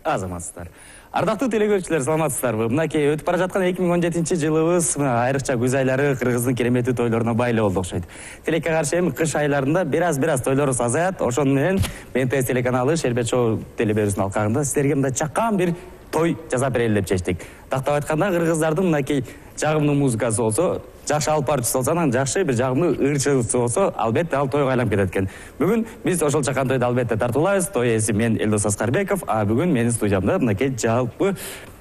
Азаматсыздар. Ардактуу телекөрүүчүлөр, саламатсыздарбы? Мынакей өтүп бара жаткан 2017-жылыбыз айрыкча күз айлары кыргыздын кереметтүү тойлоруна байлуу болду окшойт. Тилекке каршы эми кыш айларында бир аз тойлорубуз азаят. Ошону менен МТС телеканалы Шербет шоу телеберүүсүнүн алкагында сиздерге мындай чакан бир той жасап берели деп чечтик. Тактап айтканда кыргыздардын мынакей жагымдуу музыкасы болсо, жакшы алып баруучусу болсо, анан жакшы бир жагымдуу ырчысы болсо, албетте ал тойго айланып кетет экен. Бүгүн биз ошол чакан тойду албетте тартуулайбыз. Той ээси мен Элдос Аскарбеков, а бүгүн менин студиямда мынакей жалпы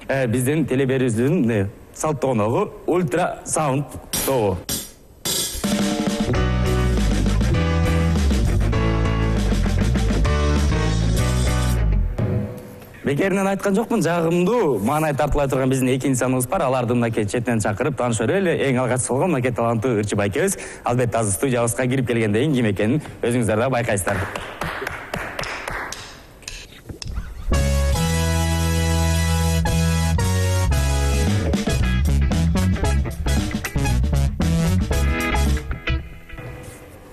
биздин телеберүүчүнүн салттуу коногу Ультра Саунд тобу. Бекеринен айткан жокмун, жагымдуу маанай тартылай турган биздин эки инсаныбыз бар. Аларды мынакей четинен чакырып таанышып берели. Эң алгачкысы болгон мынакей таланттуу ырчы байкебиз. Албетте азыр студиябызга кирип келгенден кийин ким экенин өзүңүздөр да байкайсыздар.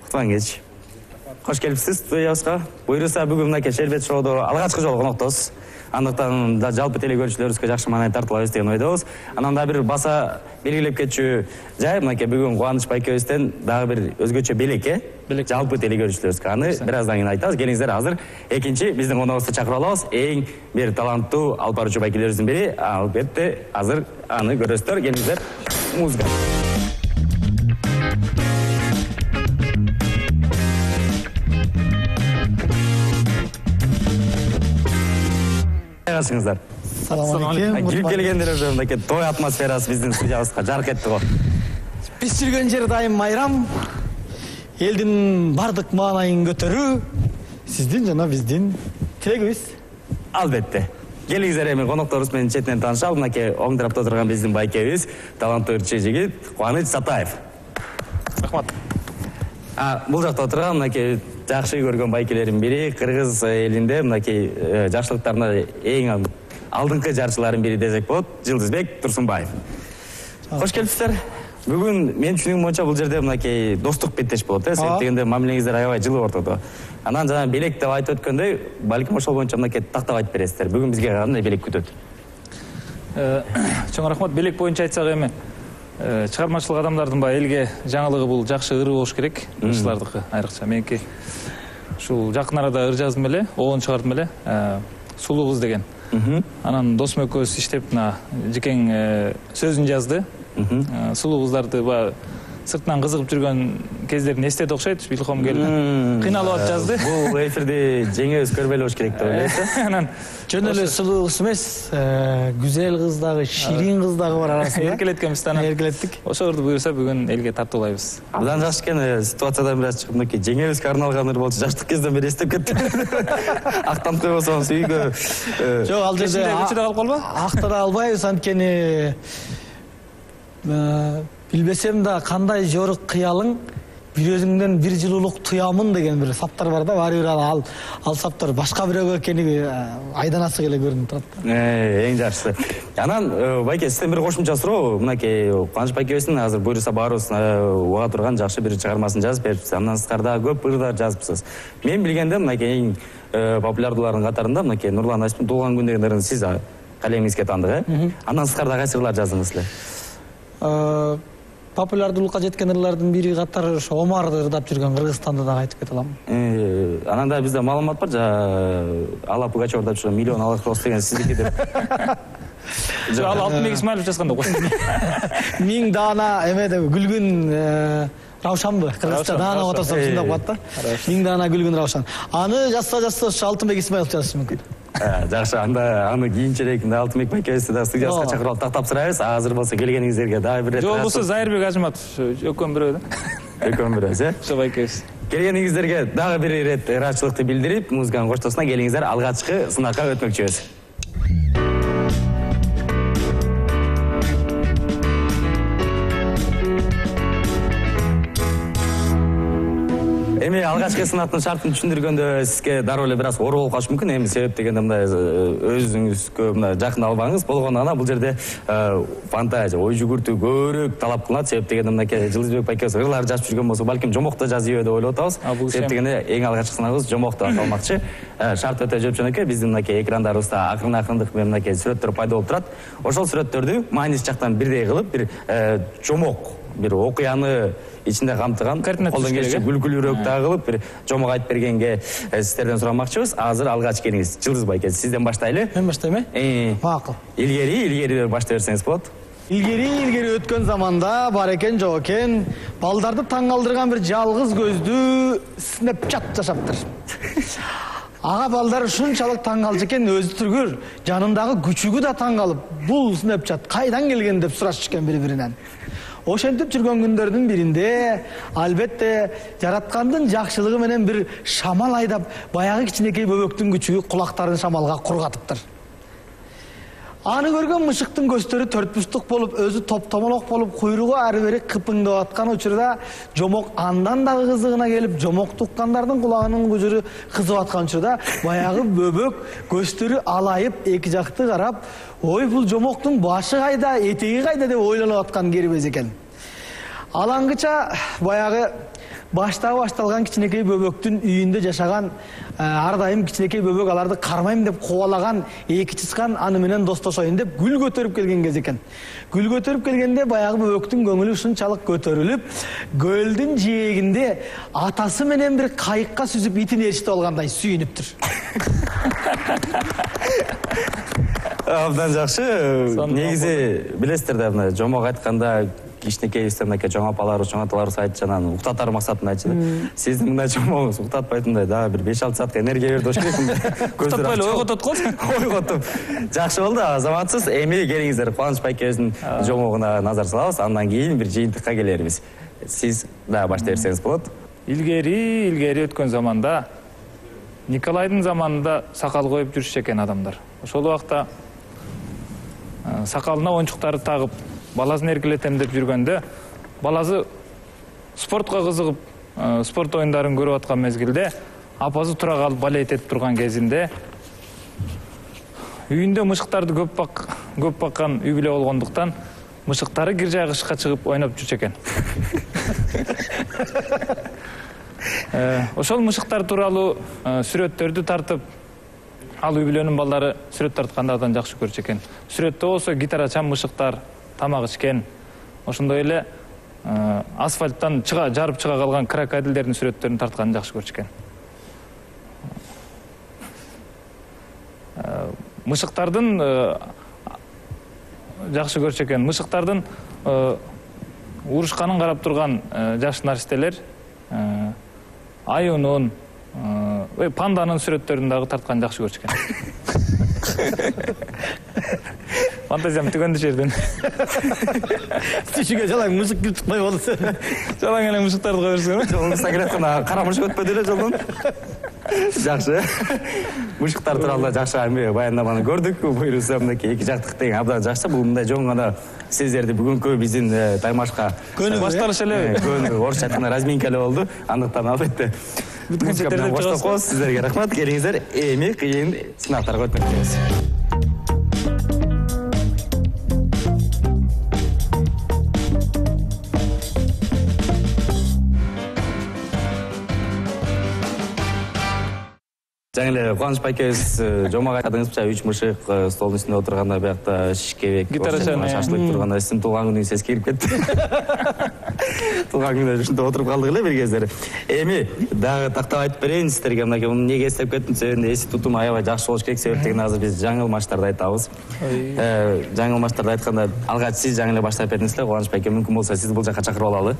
Кутман кеч. Кош келипсиз студиябызга. Буюрса бүгүн мынакей Шербет шоудо алгачкы жолу коноктосуз. Андыктан да жалпы телекөрүүчүлөрүбүзгө жакшы маанай тартуулайбыз деген ойдобуз. Анан да бир баса белгилеп кетчү жай мынакей бүгүн Кубаныч байкебизден дагы бир өзгөчө белекке жалпы телекөрүүчүлөрүбүзгө аны бир аздан кийин айтабыз. Келиңиздер, азыр экинчи биздин коногубузду чакырып алабыз. Эң бир таланттуу алып баруучу байкелерибиздин бири. Албетте азыр аны көрөсүздөр. Келиңиздер, музыка. Кайгасыңыздар? Салам алейкум. Кирип келгендер уже мынакей той атмосферасы биздин студиябызга жарык этти го. Биз жүргөн жер дайым майрам. Элдин бардык маанайын көтөрүү сиздин жана биздин тилегибиз. Албетте. Келиңиздер, эми конокторубуз менен четинен таанышалы. Мынакей оң тарапта турган биздин байкебиз, таланттуу ырчы жигит Кубаныч Сатаев. Рахмат. Бул жакта отурган мынакей жакшы көргөн байкелердин бири, кыргыз элинде мынакей жакшылыктарына эң алдыңкы жарчылардын бири десек болот, Жылдызбек Турсунбаев. Кош келипсиздер. Бүгүн мен түшүнүгүм боюнча бул жерде мынакей достук беттеш болот, себеп дегенде мамилеңиздер аябай жылы ортодо. Анан жана белек деп айтып өткөндөй, балким ошол боюнча мынакей тактап айтып бересиздер. Бүгүн бизге кандай белек күтөт? Чоң рахмат. Белек боюнча айтсак эми чыгармачылык адамдардын элге жаңылыгы бул жакшы ыры болуш керек. Ырчылардыкы айрыкча. Меники ушул жакын арада ыр жаздым эле, оон чыгардым эле. Сулуу кыз деген. Анан досум экөөбүз иштеп мына жекең сөзүн жазды. Сулуу кыздарды сыртынан кызыгып жүргөн кездерин эстеди окшойт. Илхом келип кыйналып жазды. Бул эфирди жеңебиз көрбөй болуш керек деп ойлойт. Анан жөн эле сулуу кыз эмес, güzel кыз дагы, ширин кыз дагы бар арасында. Эркелеткенбиз анан. Эркелеттик. Ошолорду буюрса бүгүн элге тартуулайбыз. Абдан жакшы экен, ситуациядан бир аз чыгып мынакей жеңебизге арналган ыр болчу, жаштык кезден бери эстеп кеттим. Актанып койбосоңуз үйгө. Жок, ал жерде көчөдө калып калба? Актара албайбыз, анткени билбесем да кандай жорук кыялың бир өзүңдөн бир жылуулук туямын деген бир саптар бар да, баары бир ал саптар башка бирөөгө экени айданасы келе көрүнүп турат. Эң жакшысы. Анан байке, сизден бир кошумча суроо, мынакей Кубаныч байкебиздин азыр буюрса баарыбыз уга турган жакшы бир чыгармасын жазып берипсиз. Андан сырткары көп ырдар жазыпсыз. Мен билгенде мынакей эң популярдуулардын катарында мынакей Нурлан Асмин туулган күн деген ырын сиз калемиңизге тандык, Андан сырткары кайсы ырлар жаздыңыз эле? Популярдуулукка жеткен ырлардын бири катары ошо Омарды ырдап жүргөн Кыргызстанды дагы айтып кете алам. Анан да бизде маалымат бар, Алла Пугачева ырдап жүргөн Миллион алакрос деген сиздики деп. Жок, ал Алтынбек Исмаилов жазган да го. Миң даана эме деп күлгүн Раушанбы? Кыргызча даана которсом ушундай калат да. Миң даана күлгүн Раушан. Аны жазса ошо Алтынбек Исмаилов жазышы мүмкүн. Жакшы, анда аны кийинчерээк Алтынбек байкебизди да студиябызга чакырып алып тактап сурайбыз. Азыр болсо келгениңиздерге дагы бир рет. Жок, болсо Зайырбек Ажыматов экөөм бирөө да. Экөөм бирөөбүз, Ошо байкебиз. Келгениңиздерге дагы бир рет ыраачылыкты билдирип, музыканын коштоосуна келиңиздер, алгачкы сынакка өтмөкчүбүз. Эми алгачкы сынактын шартын түшүндүргөндө сизге дароо эле бир аз оор болуп калышы мүмкүн. Эми себеп дегенде мындай өзүңүзгө мындай жакын албаңыз. Болгону гана бул жерде фантазия, ой жүгүртүү көбүрөөк талап кылынат. Себеп дегенде мынакей Жылдызбек байкебиз ырлар жазып жүргөн болсо, балким жомокто жазып деп ойлоп атабыз. Себеп дегенде эң алгачкы сынагыбыз жомок деп аталмакчы. Шарт өтө жөнөкөй. Биздин мынакей экрандарыбызда акырындык менен мынакей сүрөттөр пайда болуп турат. Ошол сүрөттөрдү мааниси жактан бирдей кылып, бир жомок, бир окуяны ичинде камтыган, колдон келишинче күлкүлүүрөөк дагы кылып бир жомок айтып бергенге сиздерден сурамакчыбыз. Азыр алгач келиңиз. Жылдыз байке, сизден баштайлы. Мен баштайм э? Макул. Илгери баштай берсеңиз болот. Илгери өткөн заманда бар экен, жок экен, балдарды таң калтырган бир жалгыз көздүү Снэпчат жашаптыр. Ага балдар ушунчалык таң калчу экен, өзү түргүр, жанындагы күчүгү да таң калып, бул Снэпчат кайдан келген деп сурашышкан бири-биринен. Ошентип жүргөн күндөрдүн биринде, албетте, жараткандын жакшылыгы менен бир шамал айдап, баягы кичинекей бөбөктүн күчүгү кулактарын шамалга кургатыптыр. Аны көргөн мышыктын көздөрү төртбурчтук болуп, өзү топтомолок болуп, куйругу ары бери кыпыңдап аткан учурда жомок андан дагы кызыгына келип, жомок туккандардын кулагынын күжүрү кызып аткан учурда баягы бөбөк көздөрү алайып эки жакты карап, ой бул жомоктун башы кайда, этеги кайда деп ойлонуп аткан кербез экен. Алаңгыча баягы баштагы башталган кичинекей бөбөктүн үйүндө жашаган, ар дайым кичинекей бөбөк аларды кармайм деп кубалаган эки чычкан аны менен достошоюн деп гүл көтөрүп келген кез экен. Гүл көтөрүп келгенде баягы бөбөктүн көңүлү ушунчалык көтөрүлүп, көлдүн жээгинде атасы менен бир кайыкка сүзүп итин ээрчитип алгандай сүйүнүптүр. Абдан жакшы. Негизи билесиздер да, мына жомок айтканда кичинекей мынакей чоң апаларыбыз, чоң аталарыбыз айтчу, анан уктатар максатында айтчу. Сиздин мындай жомогуңуз уктатпайтындай дагы бир 5-6 саатка энергия берди болуш керек. Уктатпай эле ойготот го. Ойготуп. Жакшы болду, азаматсыз. Эми келиңиздер, Кубаныч байкебиздин жомогуна назар салабыз, андан кийин бир жыйынтыкка келербиз. Сиз да баштай берсеңиз болот. Илгери өткөн заманда Николайдын заманында сакал коюп жүрүшчү экен адамдар. Ошол убакта сакалына оюнчуктарды тагып, баласын эркелетем деп жүргөндө, баласы спортко кызыгып, спорт оюндарын көрүп аткан мезгилде, апасы тура калып балет этип турган кезинде үйүндө мышыктарды көп баккан үй бүлө болгондуктан, мышыктары кир жайгышка чыгып ойноп жүрчү экен. Ошол мышыктар тууралуу сүрөттөрдү тартып, ал үй бүлөнүн балдары сүрөт тарткандардан жакшы көрчү экен. Сүрөттө болсо гитарачан мышыктар, тамак ичкен, ошондой эле асфальттан жарып чыга калган крокодилдердин сүрөттөрүн тартканын жакшы көрчү экен. Мышыктардын жакшы көрчү экен. Мышыктардын урушканын карап турган жаш наристелер аюнун, панданын сүрөттөрүн дагы тартканын жакшы көрчү экен. Фантазиям түгөндү жерден. Түшүгө жалаң мышык кирип чыкпай болду. Жалаң эле мышыктарды кое берсең. Жолуңузда келаткан кара мышык өтпөдү эле жолдон. Жакшы. Мышыктар тууралуу жакшы эми баяндаманы көрдүк. Буюрса мынакей эки жактык деген абдан жакшы. Бул мындай жөн гана сиздерди бүгүнкү биздин таймашка башталыш эле. Орусча айтканда разминка эле болду. Андыктан албетте бүткөн жердерде коштокпоз. Сиздерге рахмат. Келиңиздер, эми кыйын сынактарга өтүп кетебиз. Жаңы эле Кубаныч байкебиз жомок айтканыңызча 3 мышык столдун үстүндө отурганда, биякта шишкебек, гитарачан шашлык турганда сиздин туулган күнүңүз эске кирип кетти. Туулган күндө ушунда отуруп калдык эле бир кездери. Эми дагы тактап айтып берейин сиздерге, мынакей муну эмнеге эстеп кеттим десем, эси тутум аябай жакшы болуш керек. Себеп дегенде азыр биз жаңыл матчтарды айтабыз. Жаңыл матчтарды айтканда алгач сиз жаңы эле баштап бердиңиз эле, Кубаныч байке, мүмкүн болсо сизди бул жака чакырып алалы.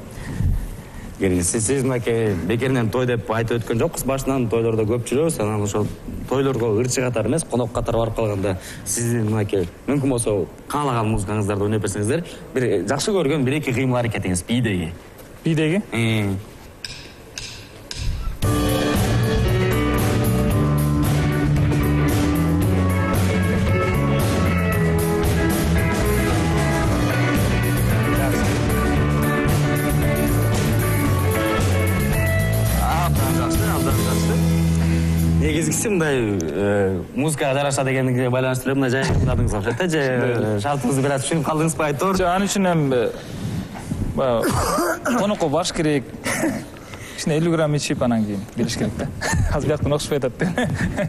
Сиз мынакей бекеринен той деп айтып өткөн жокпуз. Башынан тойлордо көп жүрөбүз, анан ошол тойлорго ырчы катары эмес, конок катары барып калганда сиздин мынакей мүмкүн болсо каалаган музыкаңыздарды ойноп берсеңиздер, бир жакшы көргөн 1-2 кыймыл аракетиңиз бийдеги. Бийдеги? негизгиси мындай музыкага жараша дегенге байланыштуу эле мындай жайыңыз окшойт да, же шартыбызды бир аз түшүнүп калдыңызбы айтор? Жок, анын үчүн эми баягы конокко барыш керек. Кичине 50 грамм ичип анан кийин билиш керек да. Азыр бияктан окшошпой атат деп.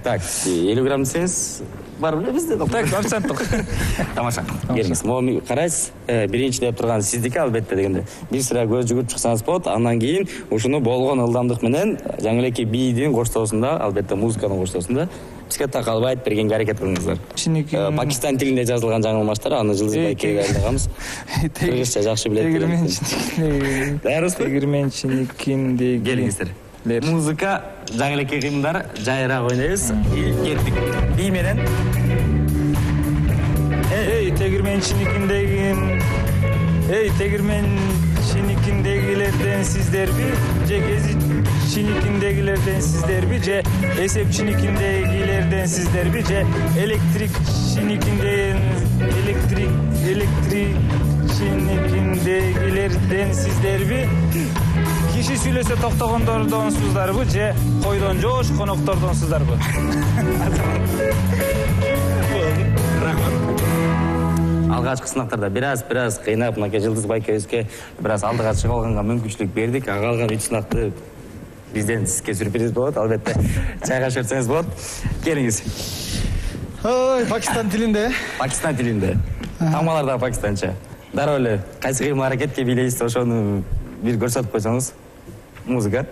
Так, 50 грамм десеңиз бар белебиз да. Так, официанттык. Тамаша. Келиңиз. Могу карайсыз, биринчи деп турган сиздики албетте дегенде. Бир сыра көз жүгүрүп чыксаңыз болот, андан кийин ушуну болгон ылдамдык менен жаңы элеки бийдин коштоосунда, албетте музыканын коштоосунда бизге такалбай айтып бергенге аракет кылыңыздар. Пакистан тилинде жазылган жаңылмаштар, аны Жылдыз байкеге айдаганбыз. Кыргызча жакшы билет. Даярбызбы? Тегирменчиникиндеги. Келиңиздер. Музыка, жаңы элеки кыймылдар, жайыраак ойнойбуз. Кеттик. Бий менен. Эй, тегирменчиникиндегилерден сиздерби, же гезитчиникиндегилерден сиздерби, же эсепчиникиндегилерден сиздерби, же электрикчиникиндегилерден сиздерби, киши сүйлөсө токтогондордонсуздарбы, же койдон жоош коноктордонсуздарбы? Алгачкы сынактарда бир аз кыйнап, мынакей Жылдыз байкебизге бир аз алдыга чыга алганга мүмкүнчүлүк бердик. Калган 3 сынакты бизден сизге сюрприз болот, албетте. Чайгаш берсеңиз болот. Келиңиз. Ой, Пакистан тилинде. Пакистан тилинде. Тамалар да пакистанча. Дароо эле кайсы кыймыл аракетке бийлейсиз, ошону бир көрсөтүп койсоңуз. Музыка.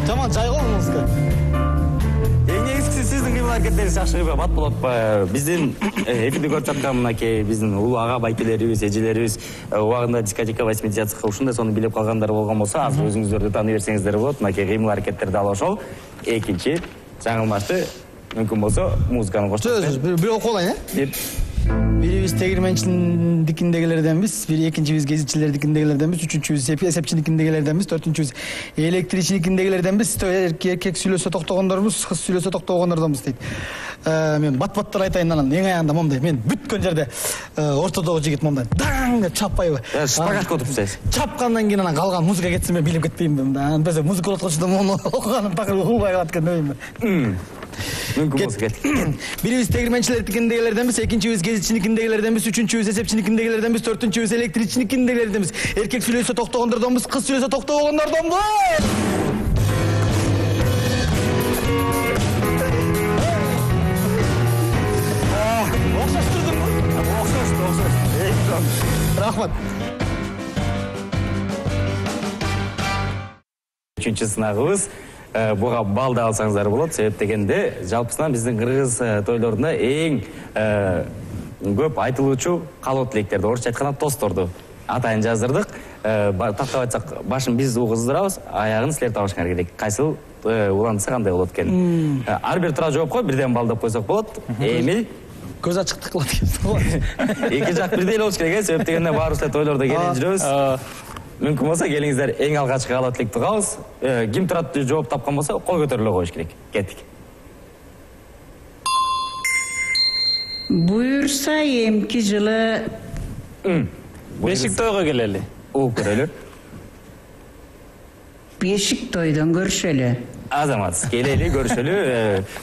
Жаман жайгол музыка. Негизгиси сиздин кыймыл аракеттериңиз жакшы бат болот. Биздин эфирди көрүп жаткан мынакей биздин улуу ага байкелерибиз, эжелерибиз убагында дискотека 80-ка ушундай сону билип калгандар болгон болсо, азыр өзүңүздөрдү тааный берсеңиздер болот. Мынакей кыймыл аракеттер дал ошол. Экинчи жаңылмашты мүмкүн болсо музыканы коштоп. Бир окуп алайын, э? Бирибиз тегирменчиникиндегилерденбиз, экинчибиз гезитчилердикиндегилерденбиз, үчүнчүбүз эсепчиникиндегилерденбиз, төртүнчүбүз электричиникиндегилерденбиз, эркек сүйлөсө токтогондорбуз, кыз сүйлөсө токтогондордонбуз дейт. Мен бат-баттар айтайын анан, эң аягында момундай, мен бүткөн жерде ортодогу жигит момундай даң деп чаппайбы? Шпагатка отурсаңыз. Чапкандан кийин анан калган музыка кетсе мен билип кетпеймби? Анан без музыка окуткучуда мону окуганын такыр угулбай калат экен дейм. Мүмкүн болсо кеттик. Бирибиз тегирменчилердикиндегилерденбиз, экинчибиз гезитчиникиндегилерденбиз, үчүнчүбүз эсепчиникиндегилерденбиз, төртүнчүбүз электричиникиндегилерденбиз, эркек сүйлөсө токтогондордонбуз, кыз сүйлөсө токтобогондордонбуз. Окшоштурдумбу? Окшошту. Рахмат. Үчүнчү сынагыбыз. Буга балды алсаңыздар болот. Себеп дегенде, жалпысынан биздин кыргыз тойлорунда эң көп айтылуучу каалоо тилектерди, орусча айтканда тостторду атайын жаздырдык. Тактап айтсак, башын биз угуздурабыз, аягын силер табышыңар керек. Кайсыл уландырса кандай болот экен. Ар бир туура жооп кой, бирден бал деп койсок болот. Эми көз ачыктык кылат экен. Эки жак бирдей эле болуш керек, себеп дегенде баарыбыз эле тойлордо келин жүрөбүз. Мүмкүн болсо келиңиздер, эң алгачкы каалоо тилекти угабыз. Ким турат жооп тапкан болсо, кол көтөрүлө коюш керек. Кеттик. Буюрса эмки жылы Бешик тойго келели. Угуп көрөлү. бешик тойдон көрүшөлү. Азамат, келели, көрүшөлү.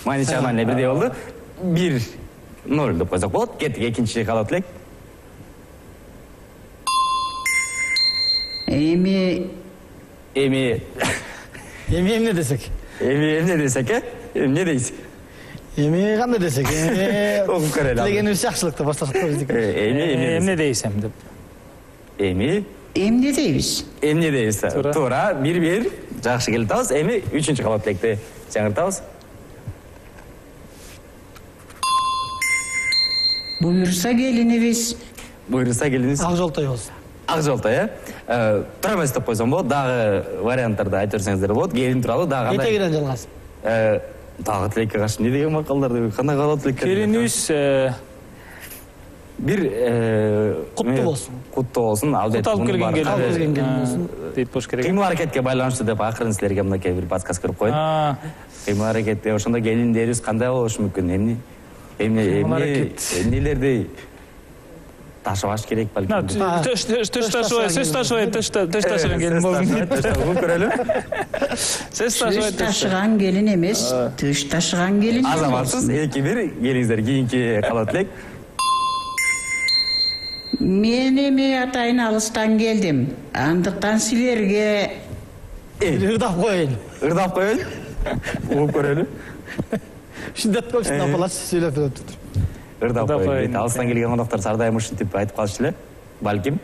Манича менен бирдей болду. 1-0 деп койсок болот. Кеттик, экинчи каалоо тилек. Эми эмне десек? Эмне десек, эмне дейсиз? Эми кандай десек? Окуп көрөлү. Тилегенибиз жакшылыкты башташат биздик. Эмне дейсем деп. Эмне дейбиз. Эмне дейбиз. Туура, 1-1 жакшы келип атабыз. Эми 3-каалоо тилекти жаңыртабыз. Буюрса келинибиз. Ак жолтой болсун. Ак жолтой, тура эмес деп койсом болот. Дагы варианттарды айтып берсеңиздер болот. Келин тууралуу дагы кандай? Этегинен жалгасып. Дагы тилекке каршы эмне деген макалдар, кандай каалоо тилектер? Келинибиз бир куттуу болсун. Куттуу болсун, албетте. Кут алып келген келин болсун. Дейт болуш керек. Кыймыл аракетке байланыштуу деп акырын силерге мынакей бир подсказка берип коеюн. Кыймыл аракетте ошондо келиндерибиз кандай болушу мүмкүн? Эмнелерди ташыбаш керек балким. Төш ташыган келин болдум. Көрөлү. Сөз Төш ташыган келин эмес, төш ташыган келин. Азаматсыз 2-1 келиңиздер кийинки калат элек. Мен эми атайын алыстан келдим. Андыктан силерге ырдап коеюн. Ырдап коеюн. Угуп көрөлү. Шиддет көпсүн апалар сүйлөп өтүп. Ырдап коеюн. Алыстан келген коноктор сардайым ушинтип айтып калышты эле. Балким.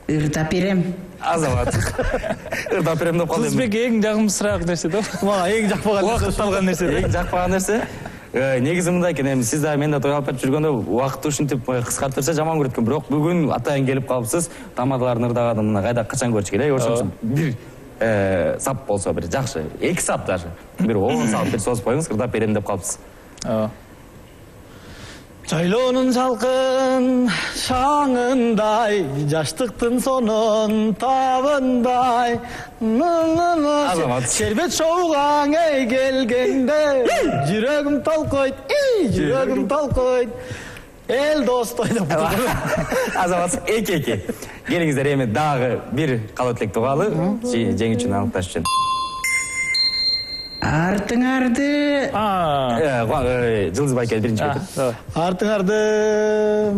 ырдап берем. Азамат. Ырдап берем деп калдым. Кызбек эң жагымсыраак нерсе да. Мага эң жакпаган Убакыт алган нерсе. Эң жакпаган нерсе. Негизи мындай экен, эми сиз да мен да той алып берип жүргөндө убакытты ушинтип кыскартырса жаман көрөт экен. Бирок бүгүн атайын келип калыпсыз. Тамадалардын ырдаганы мына кайда качан көрчү эле. Ошон үчүн бир сап болсо бир жакшы, 2 сап даже. Бир 10 сап бир созуп коюңуз, ырдап берем деп калыпсыз. Жайлоонун салкын шаңындай, жаштыктын сонун табындай. Азамат. Шербет шоугаң эй келгенде, жүрөгүм толкойт, жүрөгүм толкойт. Эл достой деп. Азамат 2-2. Келиңиздер эми дагы бир калат элек тугалы, жеңүүчүнү аныкташ үчүн. Артыңарды Жылдыз байке биринчи кетип. Артыңарды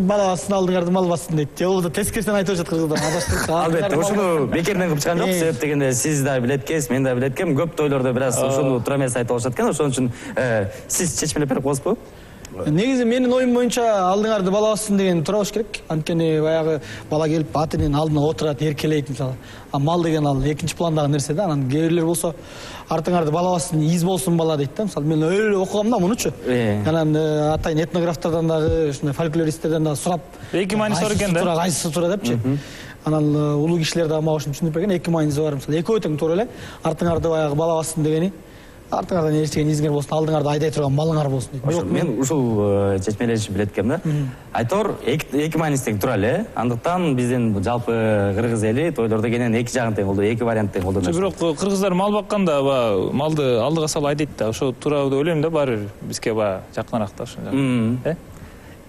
балабасын, алдыңарды малбасын дейт. Же болбосо тескерисинен айтып жатат кыргыздар. Адаштык. Албетте, ушуну бекерден кылып чыккан жок. Себеп дегенде сиз да билет экенсиз, мен да билет экенмин. Көп тойлордо бир аз ушуну туура эмес айтып алышат экен. Ошон үчүн сиз чечмелеп берип коесузбу? Негизи менин оюм боюнча алдыңарды бала бассын деген туура болуш керек. Анткени баягы бала келип атынын алдына отурат, эркелейт мисалы. А мал деген ал экинчи пландагы нерсе да. Анан кээ бирлер болсо артыңарды бала бассын, из болсун бала дейт да. Мисалы мен өлө окугам да мунучу. Анан атайын этнографтардан дагы, ушундай фольклористтерден дагы сурап, эки мааниси бар экен да. Кайсысы туура депчи. Анан улуу кишилер дагы мага ушуну түшүндүрүп берген, эки мааниси бар. Мисалы экөө тең туура эле. Артыңарды баягы бала бассын дегени артыңардан эчтеген изиңер болсун, алдыңарды айдай турган малыңар болсун дейт. Ошо мен ушул чечмелешип билет экенмин да. Айтор эки мааниси тең тура эле. Андыктан биздин жалпы кыргыз эли тойлордо кенен эки жагын тең колдойт, эки вариант тең колдонот. Бирок кыргыздар мал бакканда малды алдыга салып айдайт да. Ошо туура деп ойлойм да, баары бир бизге жакыныраак да ошо.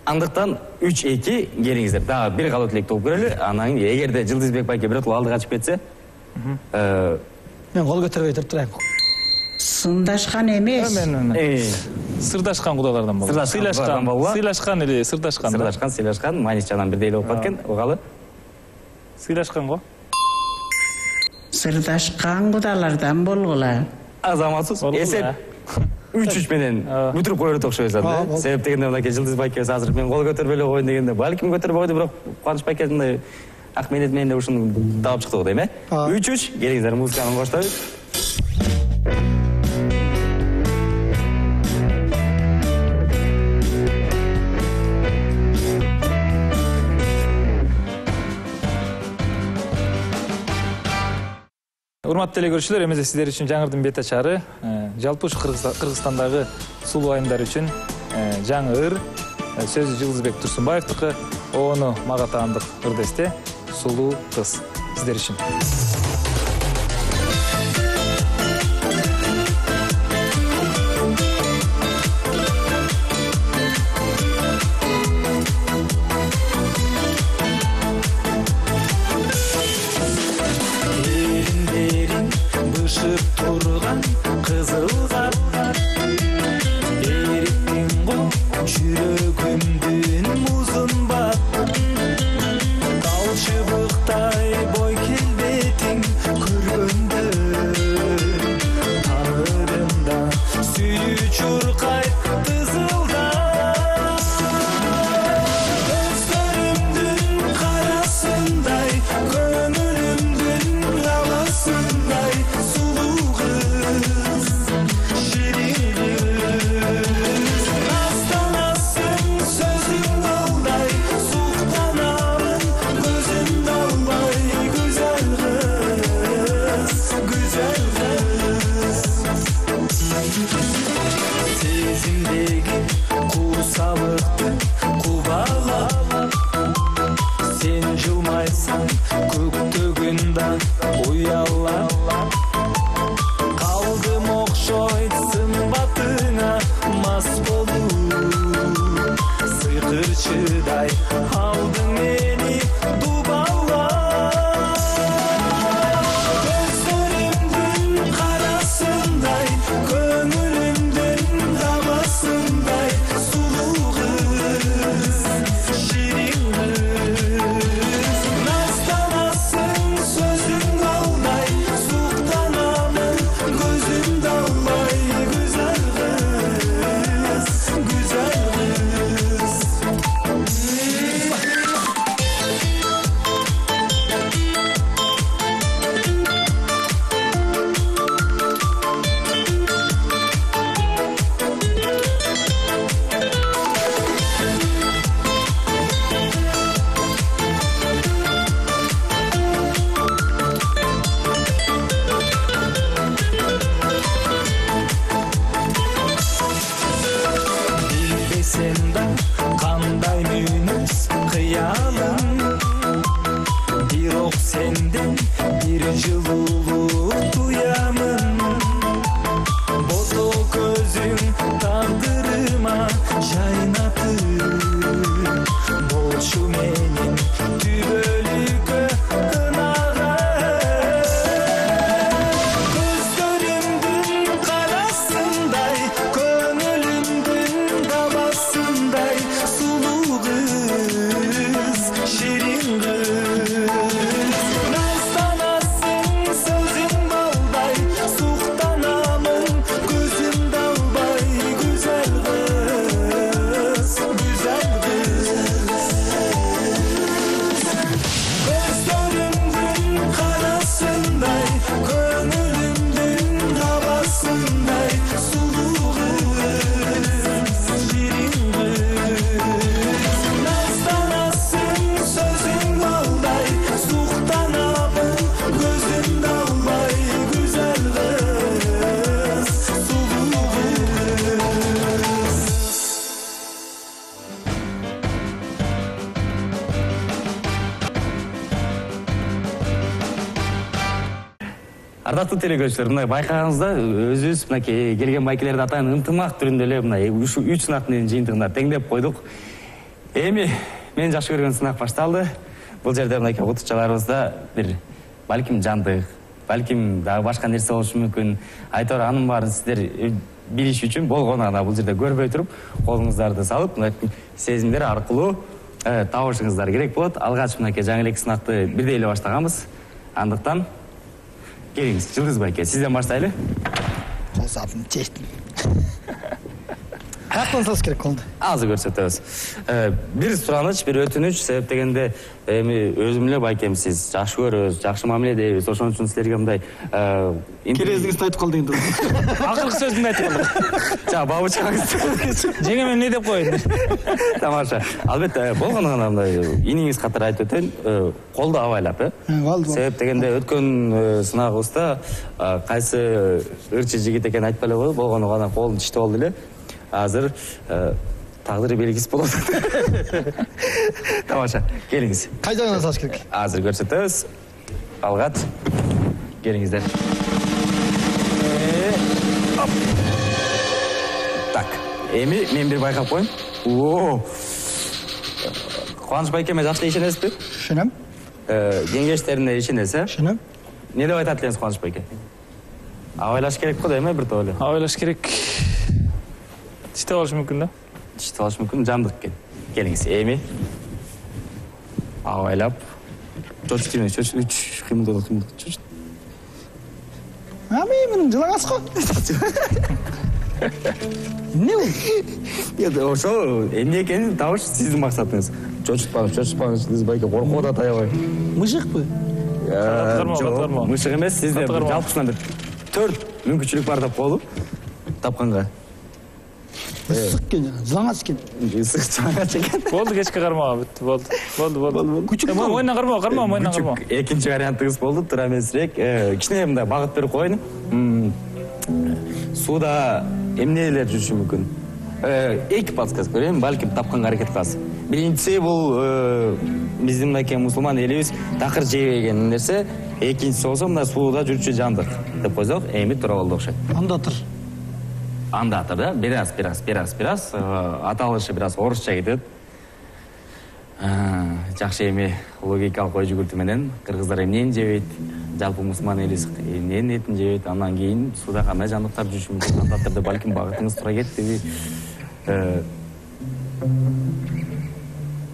Андыктан 3-2 келиңиздер. Дагы бир калат элек топ көрөлү. Анан эгерде Жылдызбек байке биротоло алдыга чыгып кетсе, мен кол көтөрбөй турайын. Сындашкан эмес. Сырдашкан кудалардан болот. Сыйлашкан или сырдашкан. Сыйлашкан, мааниси жагынан бирдей эле болуп кеткен. Угалы. Сыйлашкан го. Сырдашкан кудалардан болгула. Азаматсыз эсеп 3-3 менен бүтүрүп коерут окшойт да. Себеп дегенде мынакей Жылдыз байкебиз азыр мен кол көтөрбөй эле коеюн дегенде, балким көтөрбөй койду, бирок Кубаныч байке мындай ак менет менен ушуну таап чыкты го дейм, 3-3 келиңиздер, музыканы коштойбуз. Урматтуу телекөрүүчүлөр, эмесе сиздер үчүн жаңырдын бет ачары, жалпы ушу Кыргызстандагы сулуу айымдар үчүн жаңы ыр, сөзү Жылдызбек Турсунбаевдики, ону мага таандык ырдесте сулуу кыз сиздер үчүн. Турган кызыл кар эриктин го жүрөгүмдүн музун бат тал чыбыктай бой келбетиң көргөндө танырымда сүйүү чуркайт тызылдап көздөрүмдүн карасындай көңүлүмдүн аласындай сен жылмайсаң көктөгүн да уялап калдым окшойт сымбатыңа мас болуп сыйкырчыдай алдың жайнатып болчу менин түбөлүккө ынагым көздөрүңдүн карасындай көңүлүмдүн табасындай сулуу кыз ширин кыз назданасың сөзүң балдай суктанамын көзүмдү албай güzel kız gözlerinden karasınday gönlümdün havasınday sulu kız şirin kız nazdanasın sözün balday suhtanamın gözümde almay güzel kız sulu kız. Ардактуу телекөрүүчүлөр, мына байкагансызда өзүбүз мынакей келген байкелерди атайын ынтымак түрүндө эле мына ушу 3 сынактын жыйынтыгында теңдеп койдук. Эми мен жакшы көргөн сынак башталды. Бул жерде мынакей окутуучуларыбызда бир балким жандык, балким дагы башка нерсе болушу мүмкүн. Айтор анын баарын сиздер билиш үчүн болгону гана бул жерде көрбөй туруп, колуңуздарды салып, мынакей сезимдер аркылуу табышыңыздар керек болот. Алгач мынакей жаңы эле сынакты бирдей эле баштаганбыз. Андыктан келиңиз, Жылдыз байке, сизден баштайлы. Колсаатын чечтим. Каяктан салыш керек колду? Азыр көрсөтөбүз. Бир сураныч, бир өтүнүч, себеп дегенде эми өзүм эле байкем сиз жакшы көрөбүз, жакшы мамиледебиз. Ошон үчүн силерге мындай Керездиңизди айтып кал деген. Акыркы сөзүмдү айтып калдым. жа бабычкаңыз. Жеңеме эмне деп коеюн? Тамаша. Албетте болгону гана мындай иниңиз катары айтып өтөйүн. Колду абайлап, Болду. Себеп дегенде өткөн сынагыбызда кайсы ырчы жигит экени айтпай эле койду, болгону гана колун тиштеп алды эле. Азыр тагдыры белгисиз болот. Тамаша, келиңиз. Кай жагынан салыш керек? Азыр көрсөтөбүз. Алгат. Келиңиздер. Оп. Так. Эми мен бир байкап коеюн. Кубаныч байкеме жакшы ишенесизби? Ишенем. Кеңештерине ишенесиз, Ишенем. Не деп айтат элеңиз Кубаныч байке? Абайлаш керек го дейм, бир топ эле. Абайлаш керек. Тиштеп алыш мүмкүн да. Тиштеп алыш мүмкүн, жандык экен. Келиңиз, эми абайлап чочтуңуз, үч кыймылдоо. Менин жылаңас го. Эмне бул? Ошо эмне экенин табыш сиздин максатыңыз. Чочутпаңыз, Жылдыз байке коркуп атат аябай. Мыжыкпы? Катырма. Мышык эмес, сизде жалпысынан бир 4 мүмкүнчүлүк бар деп коелу. Тапканга. Ысык экен жана, жылаңас экен. Ысык чаңач экен. Болду, кечке кармага бүттү. Болду. Күчүк Мойнуна карма, мойнуна карма. Экинчи вариантыңыз болду, тура эмесирээк. Кичине мындай багыт берип коеюн. Сууда эмнелер жүрүшү мүмкүн? Эки подсказка берейин, балким тапканга аракет кыласыз. Биринчиси бул биздин мынакей мусулман элибиз такыр жебеген нерсе. Экинчиси болсо мына сууда жүрчү жандык деп койсок, эми туура болду окшойт. Андатыр, да? Бираз. Аталышы бираз орусча кетет. Жакшы эми логикалык ой жүгүртүү менен кыргыздар эмнени жебейт? Жалпы мусулман элибиз эмненин этин жебейт? Андан кийин сууда кандай жандыктар жүрүшү мүмкүн? Андатырда балким багытыңыз туура кеттиби?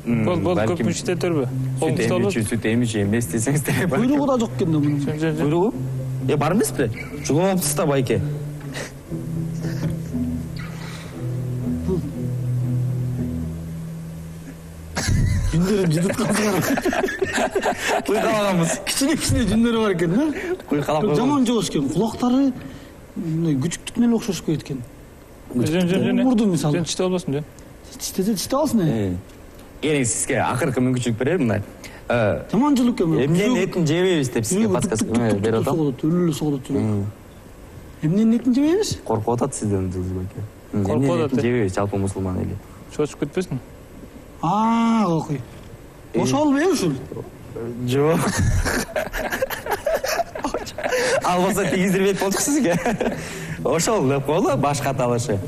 Болду, көп мүчтө төрбө. Сүт эмичи эмес десеңиздер. Куйругу да жок экен да мунун. Куйругу? Бар эмеспи? Жулуп алыпсыз да байке. Жүндөрүм жыдыткансыңар. Куйкалаганбыз. Кичине жүндөрү бар экен, да? Куйкалап. Жаман жок экен. Кулактары күчүктүкүнө эле окшош экен. Жөн. Мурду мисалы. Жөн тиштеп албасын, жөн. Тиштеп алсын. Келиңиз, сизге акыркы мүмкүнчүлүк берем мына. Жаман жылуу экен. Эмненин этин жебейбиз деп сизге подсказка берип атам. Өлүлө согулат. Эмненин этин жебейбиз? Коркуп атат сизден, Жылдыз байке. Коркуп атат. Жебейбиз жалпы мусулман эли. Чочуп кетпесин. Окуй. Ошол ушул. Жок. Ал болсо тийиздирбейт болчу сизге. Ошол деп коелу, баш каталышы.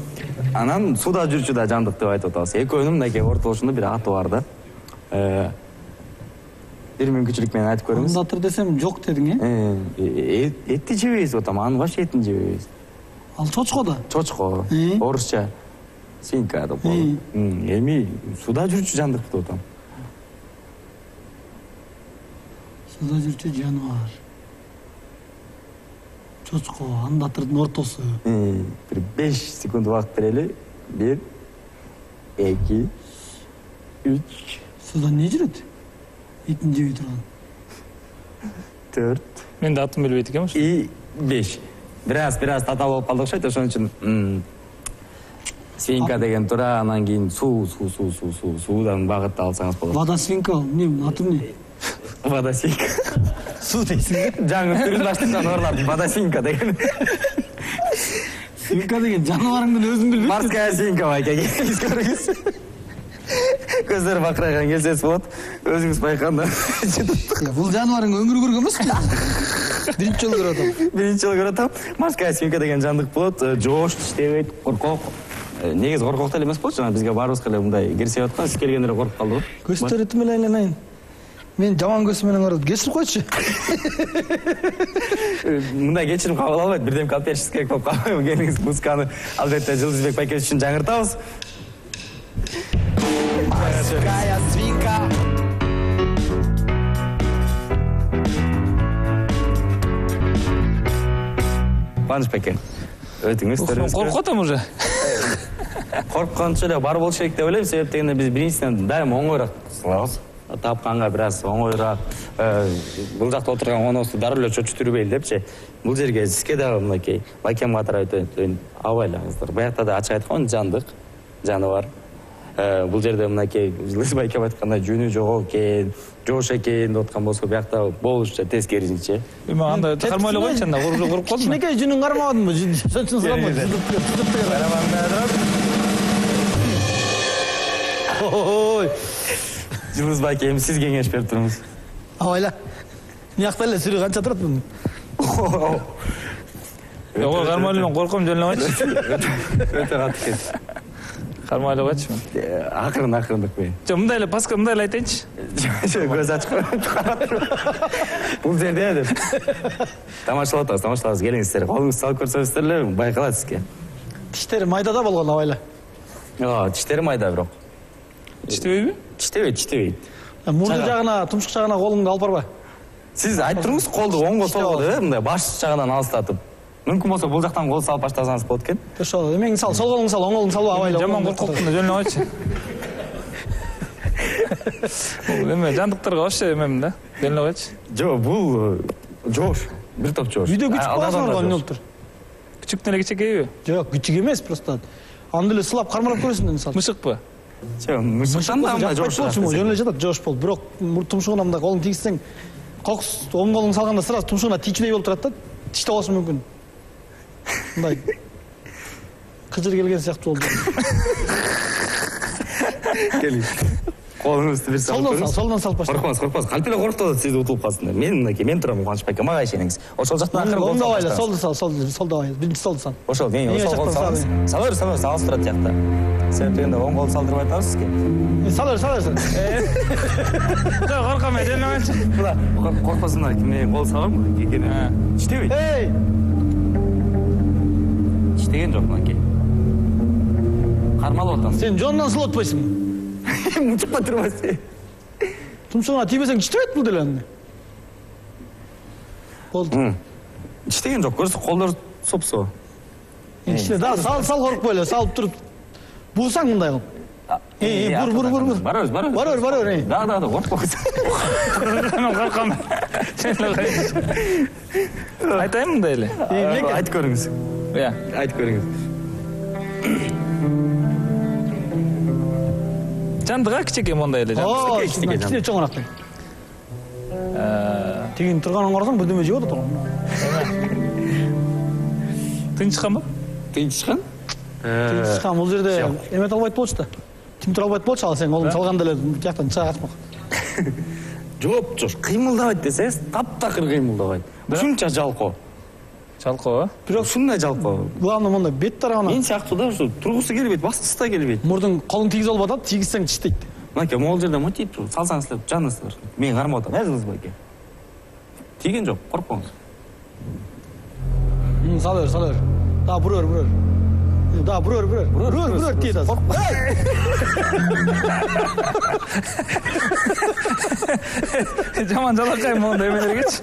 Анан суда жүрчү да жандык деп айтып атабыз. Экөөнүн мынакей ортолушунда бир аты бар да. Бир мүмкүнчүлүк менен айтып көрүңүз. Андатыр десем жок дедиң, Этти жебейбиз атам, анын вообще этин жебейбиз. Ал чочко да. Чочко, орусча свинка деп коет. Эми суда жүрчү жандык деп атам. Суда жүрчү жаныбар. Чочко, андатырдын ортосу. Бир 5 секунд убакыт берели. 1 2 3 Суда не жүрөт? Итин жебей турган. 4 Мен да атын билбейт экенмин. и 5. Бираз татаал болуп калдык окшойт, ошон үчүн свинка деген тура, анан кийин суудан багытты алсаңыз болот. Вода свинка, эмне аты эмне? Вода свинка. Суу дейсиң. Жаңы түрүн баштырган орлар вода свинка деген. Свинка деген жаныбарыңдын өзүң билбейсиң. Морская свинка байке. Көрүңүз. Көздөр бакырайган келсеңиз болот. Өзүңүз байкаганда. Бул жаныбарың өмүрү көргөн эмеспи? Биринчи жолу көрүп атам. Биринчи жолу көрүп атам. Морская свинка деген жандык болот. Жоош иштебейт, коркок. Негизи коркок деле эмес болчу, жана бизге баарыбызга эле мындай кирсип аткан, сиз келгенде эле коркуп калдык. Көздөр этим эле айналайын. Мен жаман көз менен карап, кечирип койчу. Мындай кечирим кабыл албайт, бирдемке алып беришиңиз керек болуп калбайбы? Келиңиз, музыканы албетте Жылдызбек байкебиз үчүн жаңыртабыз. Морская свинка. Кубаныч байке, өтүңүз, Коркуп атам уже. Корккончу эле бар болуш керек деп ойлойм, себеп дегенде биз биринчиден дайыма оңоюраак кылабыз. Тапканга бир аз оңоюраак, бул жакта отурган коносу дароо эле чочутурбейли депчи. Бул жерге сизге дагы мынакей байкемге катары абайлаңыздар. Буякта да ачык айткан жандык, жаныбар. Бул жерде мынакей Жылдыз байкем айткандай жөнү жок экен, жоош экен деп аткан болсо, буякта болушча тескерисинче. Эми андай кармайлап койчу, анда коруп калдым. Кичинекей жүнүң кармабадыңбы? Ошон сурамай. Ой. Жылдыз байке, эми сиз кеңеш берип туруңуз. Абайла. Мыякта эле сүрү канча турат мунун? Ого, кармайлуудан корком, жөнөбөйчү. Өтө катты экен. Кармайлап койчу. Акырындык мен. Жок, мындай эле паска мындай эле айтайынчы. Көз ачык карап туруп. Бул жерде деп. Тамашалап атабыз, келиңиздер. Колуңузду салып көрсөңүздөр эле байкалат сизге. Тиштери майда да болгон абайла. Тиштери майда бирок. Иштебейби? Иштебейт. Мурду жагына, тумшук жагына колуңду алып барба. Сиз айтып туруңуз, колду оңго солго деп, мындай баш жагынан алыстатып. Мүмкүн болсо бул жактан кол салып баштасаңыз болот экен. Ошо, эмеңди сал, сол колуңду сал, оң колуңду салба абайла. Жаман коркоктун да жөнөбөйчү. Эме жандыктарга вообще эмем да. Жөнөбөйчү. Жок, бул жоош. Бир топ жоош. Үйдө күчүк баласыңар эмне болуптур? Күчүктөн эле кичекейби? Жок, күчүк эмес, просто. Аны эле сылап кармалап көрөсүң мисалы. Мышыкпы? Жок, мышыктан да мындай жоош. Жөн эле жатат, жоош болуп. Бирок тумшугуна мындай колуңду тийгизсең, кокус оң колуңду салганда сразу тумшугуна тийчүдөй болуп турат да. Тиштеп алышы мүмкүн. Мындай кыжыр келген сыяктуу болду. Келиңиз. Колуңузду бир салып көрүңүз. Солдан салып баштайын. Коркпоңуз. Кантип эле коркуп атат, сиз утулуп калсындар. Мен турам Кубаныч байке, мага ишениңиз. Ошол жактан акырын кол Оңдо байла, салып. солду байла. Биринчи солду сал. Ошол, ошол кол салыңыз. Сала алыс турат жакта. Себеп дегенде оң кол салдырып атабыз сизге. Сал. Жок, корком, жөнөбөйчү. Була коркпосундар, мен кол салам, кекене. Иштебейт. Эй! Иштеген жок мынакей. Кармалып атам. Сен жонунан сылып атпайсың. Мучукпа турбайсың. Тумшугуна тийбесең иштебейт бул деле аны. Болду. Иштеген жок, көрсө колдор сопсо. Иште да, сал коркпой эле, салып туруп. Буусаң мындай кылып. Бур. Бар. Да, коркпойсуң. Мен корком. Айтайын мындай эле. Айтып көрүңүз. Айтып көрүңүз. Жандыга кичекей мондай эле жандык. Кичине чоңураак. Тигин турганын карасаң бирдеме жеп атат. Тынчканбы? Тынчкан? Тынчкан бул жерде эмет албайт болчу да. Тимтир албайт болчу, ал сен колуңду салганда эле жактан чыга катмак. Жооп, кыймылдабайт десеңиз, таптакыр кыймылдабайт. Ушунча жалко. Жалкоо. Бирок ушундай жалпоо. главное мондай бет тарабына Мен сыяктуу да ушу тургусу келбейт, баскысы да келбейт. мурдуң колуң тийгизе албай атат, тийгизсең тиштейт. Мынакей могул жерде мотив салсаңыз эле жаныңыздар. Мен кармап атам, Кызыл байке. Тийген жок, коркпоңуз. Сала бер. Да, бурөр. Да, бурөр тиет азыр. Жаман жалакайым мондай эмелергечи.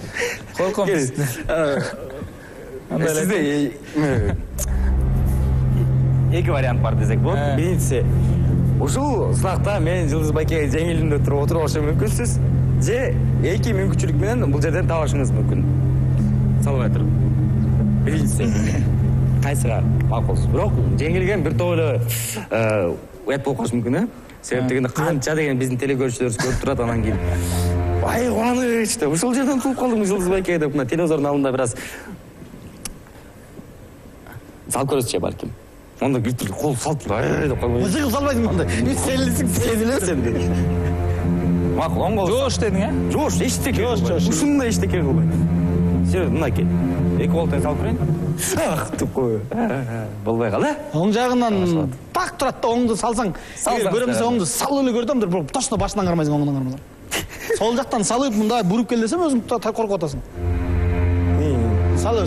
Корком. Сизде эки вариант бар десек болот. Биринчиси, ушул сынакта мен Жылдыз байкеге жеңилинде туруп отурбашы мүмкүнсүз, же эки мүмкүнчүлүк менен бул жерден табышыңыз мүмкүн. Салбай туруп. Биринчиси кайсыга макулсуз? Бирок жеңилген бир топ эле уят болуп калышы мүмкүн, Себеп дегенде канча деген биздин телекөрүүчүлөрүбүз көрүп турат, анан кийин ай кубаныч деп ушул жерден туруп калдым Жылдыз байке деп мына телевизордун алдында бир аз сал көрөсүзчү балким. Онда бир түрлүү кол салып деп калбайбы? Жыгып салбайсың мондай. Мен селисиң Сезилесиң деди. Макул, оң кол. Жоош дедиң, Жоош, эчтеке. Ушундай эчтеке кылбайт. Сен мынакей. Эки колтон салып көрөйүн. Ах, деп кой. Болбой кал, Оң жагынан так турат да, оңду салсаң, көрөм десе оңду салып эле көрдүм, бир точно башынан кармайсың, оңунан кармайлар. Сол жактан салып мындай буруп кел десем, өзүң коркуп атасың. Салыр.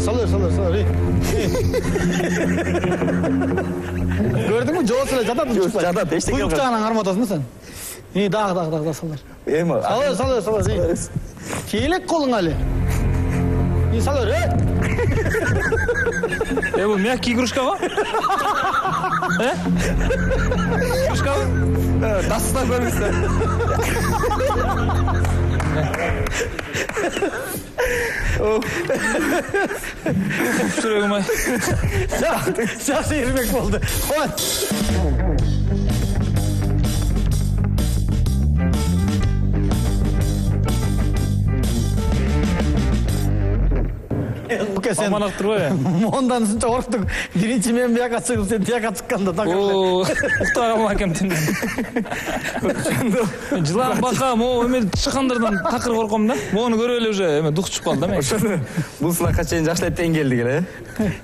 Көрдүңбү? Жооз эле жатат. Жатат, эчтеке. Куюк жагынан кармап атасың да сен. Дагы салыр. Салыр. Келек колуң али. Салыр. Бул мягкий игрушка го? Игрушка го? Дастан көрүнсө. Жүрөгүм ай. Жакшы ирмек болду. Ой. Сен Аман актырбайбы? Мондан ушунча корктуң. Биринчи мен бияка чыгып, сен тияка чыкканда так. Уктап калган экем тинден. Жылан бака, могу эме чыккандардан такыр корком да. Могуну көрүп эле уже эме дух чыгып калды да мен. Ошону бул сынакка чейин жакшылап тең келдик эле.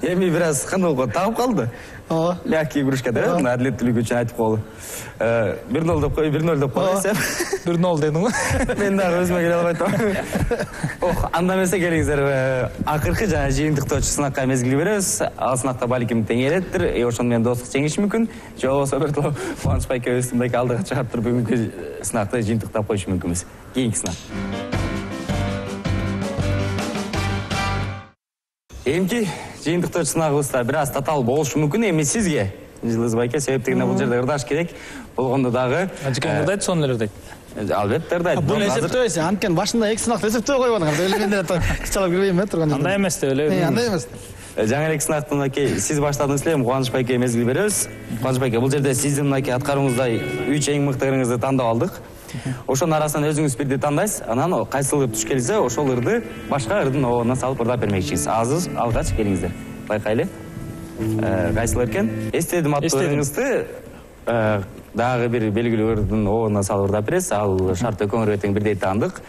Эми бир аз кандай болуп тагып калды. Мягкий игрушка деп, адилеттүүлүк үчүн айтып коелу. 1-0 деп кой, 1-0 деп коесем. 1-0 дедиң го. Мен дагы өзүмө келе албай атам. Анда эмесе келиңиздер, акыркы жана жыйынтыктоочу сынакка мезгил беребиз. Ал сынакта балким тең элеттир, ошону менен достук жеңиши мүмкүн. Же болбосо биртоп Кубаныч байкебиз мындай алдыга чыгарып туруп бүгүнкү сынакты жыйынтыктап коюшу мүмкүнбүз. Кийинки сынак. Эмки жыйынтыктоочу сынагыбызда бир аз татаал болушу мүмкүн. Эми сизге Жылдыз байке, себеп дегенде бул жерде ырдаш керек. Болгондо дагы Ажыкең ырдайт, сону эле ырдайт. Албетте ырдайт. Бул эсептебейсиң, анткени башында эки сынакты эсептебей койгон. Эле мен деле кычалап кирбейм турган. Андай эмес деп эле. Андай эмес. Жаңы эле сынактан мынакей сиз баштадыңыз эле, Кубаныч байке мезгил беребиз. Кубаныч байке, бул жерде сиздин мынакей аткарууңуздай 3 эң мыкты ырыңызды тандап алдык. Ошонун арасынан өзүңүз бирди тандайсыз, анан кайсыл ыр туш келсе, ошол ырды башка ырдын оборуна салып ырдап бермекчисиз. Азыр алгач келиңиздер. Байкайлы. Кайсыл экен? Эстедим аттуу ырыңызды дагы бир белгилүү ырдын оборуна салып ырдап бересиз. Ал шарт экөөңөргө тең бирдей таандык.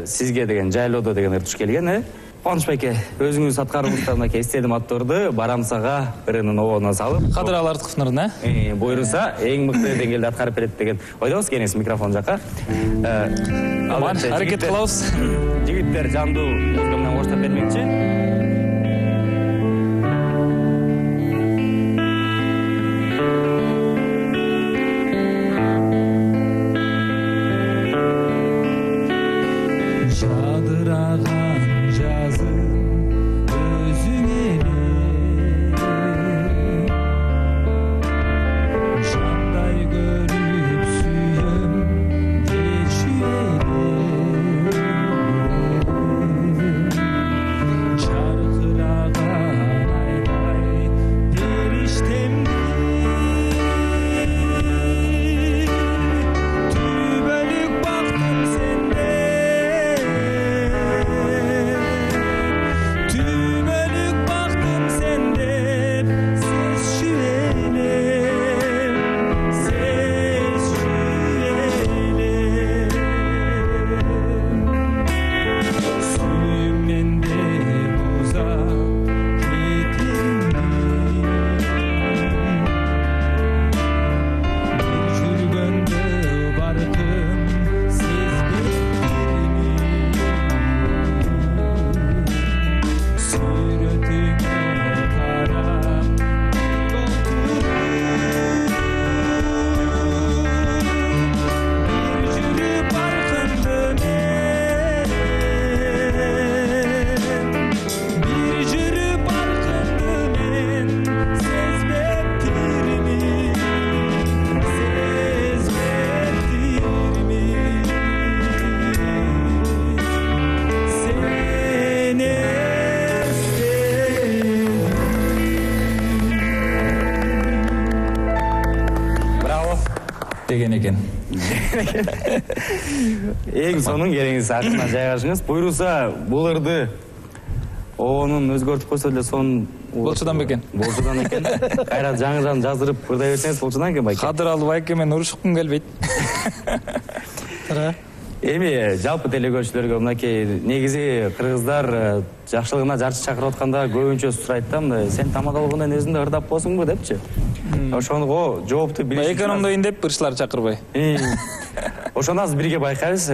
Сизге деген жайлоодо деген ыр туш келген, Кубаныч байке, өзүңүз аткарууңузда мынакей эстедим аттуу ырды барамсага ырынын оборуна салып, Кадыралы Артыковдун ырдына, буйруса эң мыкты деңгээлде аткарып берет деген ойдобуз. Келиңиз микрофон жакка. аракет кылабыз. Жигиттер жандуу музыка менен коштоп бермекчи. Эң сонун келиңиз акырына жайгашыңыз. Буйруса бул ырды оонун өзгөртүп койсо эле сонун Болчудан бекен. Болчудан экен. Кайра жаңыдан жаздырып ырдай берсеңиз болчудан экен байке. Кадыр алып байке мен урушкум келбейт. Эми жалпы телекөрүүчүлөргө мынакей негизи кыргыздар жакшылыгына жарчы чакырып атканда көбүнчө сурайт да, мындай сен тамадалыгынан өзүң да ырдап болсуңбу депчи. Ошого жоопту билиш. Экономдойн деп ырчылар чакырбай. Ошону азыр бирге байкайбыз.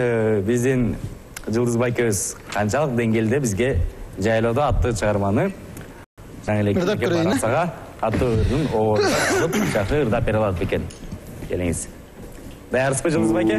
Биздин Жылдыз байкебиз канчалык деңгээлде бизге жайлоодо аттуу чыгарманы жаңы эле барасага аттуу ырдын оорун алып жакшы ырдап бере алат бекен. Келиңиз. Даярсызбы Жылдыз байке?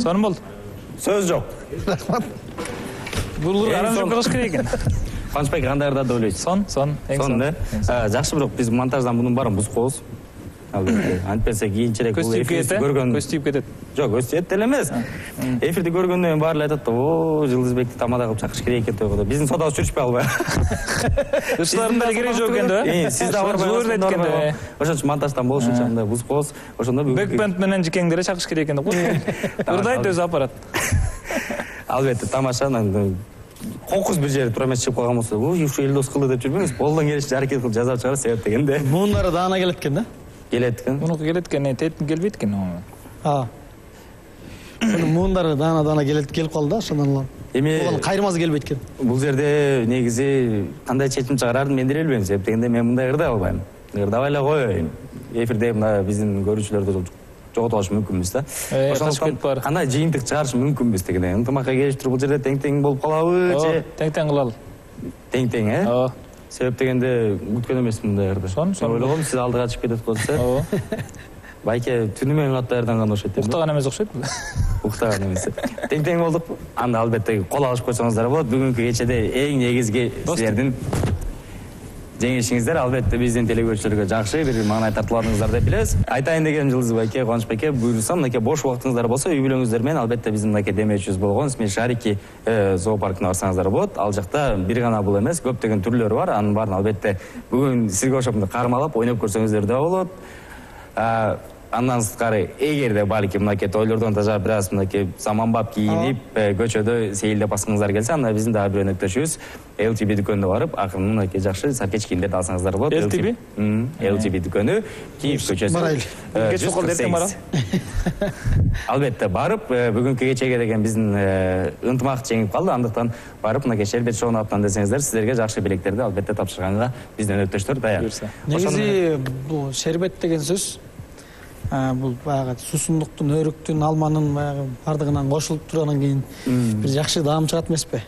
Сонун болду. Сөз жок. Бул аранжировка кылыш керек экен. Кубанычбек кандай ырдады деп ойлойсуз? Сон, эң сон. Жакшы, бирок биз монтаждан мунун баарын бузуп коебуз. Антпесе кийинчерээк бул эфирди көргөн көз тийип кетет. Жок, көз тиет деле эмес. Эфирди көргөндөн кийин баары айтат да, "О, Жылдызбекти тамада кылып чакырыш керек экен" деп. Биздин содабыз жүрүшпөй албайбы? Ырчылардын да кереги жок экен да. Сиз да барбайсыз. Ошон үчүн монтаждан болушунча андай бузуп коебуз. Ошондо Бекбенд менен жикеңди эле чакырыш керек экен деп коет. Ырдайт өзү аппарат. Албетте тамаша. Кокус бир жери тура эмес чыгып калган болсо, "Ой, ушу Элдос кылды" деп жүрбөңүз. Колдон келишинче аракет кылып жазап чыгарып себеп дегенде. Муунары даана келет экен да? Келет экен. Мунуку келет экен, тетин келбейт экен. Муундары даана келип калды да, ошондон улам. Эми кайрмасы келбейт экен. Бул жерде негизи кандай чечим чыгарарын мен деле билбейм. Себеп дегенде мен мындай ырдай албайм. Ырдабай эле коеюн. Эфирде мына биздин көрүүчүлөрдү жоготуп алыш мүмкүнбүз да. Ошондон кандай жыйынтык чыгарыш мүмкүнбүз дегенде. Ынтымакка келиштирип бул жерде тең болуп калабы же? Тең кылалы. Тең, Ооба. Себеп дегенде күткөн эмесмин мындай ырды. Сон. Ойлогом сиз алдыга чыгып кетет болсо. Ооба. Байке түнү менен кат даярданган окшойт. Уктаган эмес окшойт. Уктаган эмес. Тең болдук. Анда албетте кол алышып койсоңуздар болот. Бүгүнкү кечеде эң негизги силердин жеңишиңиздер албетте биздин телекөрүүчүлөргө жакшы бир маанай тартууладыңыздар деп билебиз. Айтайын дегеним Жылдыз байке, Кубаныч байке, буйрса мынакей бош убактыңыздар болсо, үй бүлөңүздөр менен албетте биздин мынакей демечүбүз болгон Смешарики зоопаркына барсаңыздар болот. Ал жакта бир гана бул эмес, көптөгөн түрлөрү бар. Анын баарын албетте бүгүн сизге ошондой кармалап, ойноп көрсөңүздөр да болот. Андан сырткары эгерде балким мынакей тойлордон тажа бир аз мынакей заманбап кийинип көчөдө сейилдеп баскыңыздар келсе, анда биздин дагы бир өнөктөшүбүз LTB дүкөнүнө барып, акырын мынакей жакшы саркеч кийимдерди алсаңыздар болот. LTB? LTB дүкөнү, Киев көчөсү. Барайлы. Кеч околду эртең барам. Албетте барып, бүгүнкү кечеге деген биздин ынтымак жеңип калды. Андыктан барып мынакей шербет шоуну аптан десеңиздер, сиздерге жакшы билектерди албетте тапшырганга биздин өнөктөштөр даяр. Негизи бул шербет деген сөз бул баягы суусундуктун, өрүктүн, алманын баягы бардыгынан кошулуп тургандан кийин бир жакшы даам чыгат эмеспи?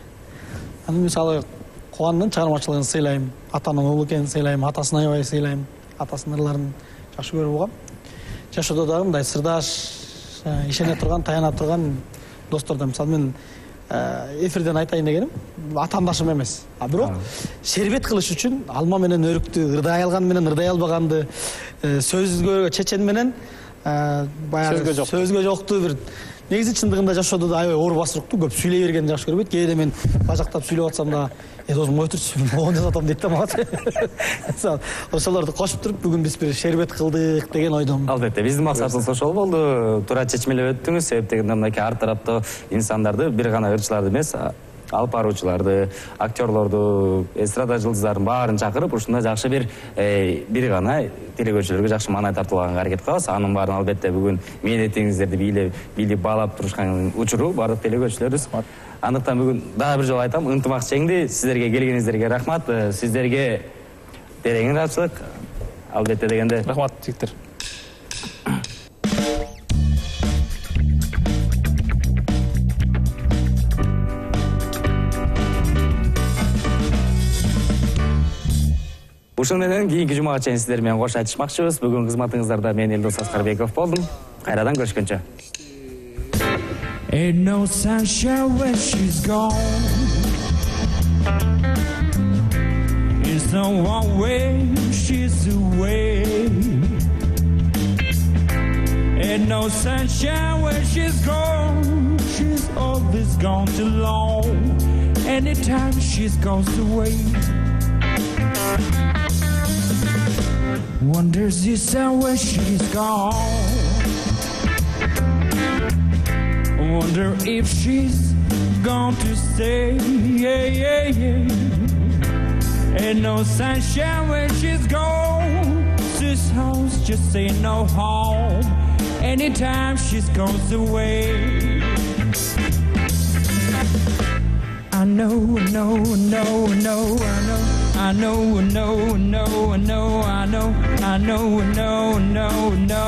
Аны мисалы Кубандын чыгармачылыгын сыйлайм, атанын уулу экенин сыйлайм, атасын аябай сыйлайм, атасынын ырларын жакшы көрүп угам. Жашоодо дагы мындай сырдаш, ишене турган, таяна турган достордон, мисалы мен эфирден айтайын дегеним, атаандашым эмес. Бирок шербет кылыш үчүн алма менен өрүктү, ырдай алган менен ырдай албаганды, сөзгө чечен менен баягы сөзгө жокту бир негизи чындыгында жашоодо да аябай оор басырыктуу, көп сүйлөй бергенди жакшы көрбөйт. Кээде мен бажактап сүйлөп атсам да, досум кой турчу, могун жасатам дейт да мага. Ошолорду кошуп туруп бүгүн биз бир шербет кылдык деген ойдомун. Албетте, биздин максатыбыз ошол болду. Туура чечмелеп өттүңүз, себеп дегенде мынакей ар тараптагы инсандарды, бир гана ырчыларды эмес, алып баруучуларды, актерлорду, эстрада жылдыздарын баарын чакырып, ушундай жакшы бир гана телекөрүүчүлөргө жакшы маанай тартуулаганга аракет кылабыз. Анын баарын албетте бүгүн мээнетиңиздерди билип баалап турушкан учуру баардык телекөрүүчүлөрүбүз. Андыктан бүгүн дагы бир жолу айтам, ынтымак жеңди. Сиздерге келгениңиздерге рахмат. Сиздерге терең ыраазычылык. Албетте дегенде. Рахмат жигиттер. Ушун менен кийинки жумага чейин сиздер менен кош айтышмакчыбыз. Бүгүн кызматыңыздарда мен Элдос Аскарбеков болдум. Кайрадан көрүшкөнчө. Ain't no sunshine when she's gone. It's no one way she's away. Ain't no sunshine when she's gone. She's always gone too long. Anytime she's goes away. Wonders this and where she's gone. Wonder if she's gone to stay. Ain't no sunshine when she's gone. This house just ain't no home. Anytime she's goes away. I know, I know, I know, I know, I know. I know, I know, I know, I know, I know, I know, I know, no, no.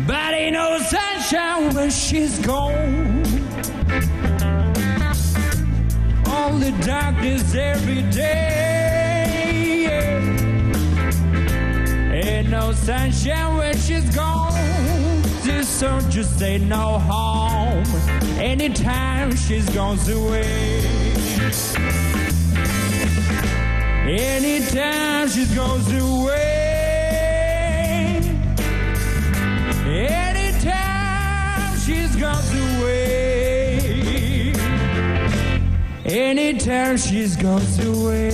But ain't no sunshine when she's gone. Only darkness every day. Ain't no sunshine when she's gone. This song just ain't no home. Anytime she's goes away. Anytime she goes away. Anytime she goes away. Anytime she goes away.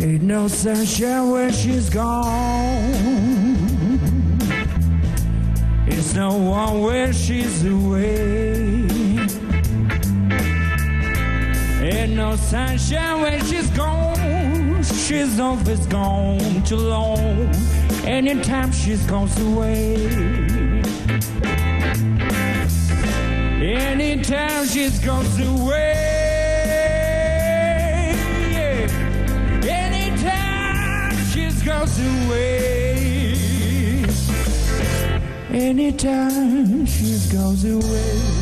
Ain't no sunshine when she's gone. It's no one when she's away. Ain't no sunshine when she's gone. She's always gone too long. Anytime she goes away. Anytime she goes away. goes away. Anytime she goes away.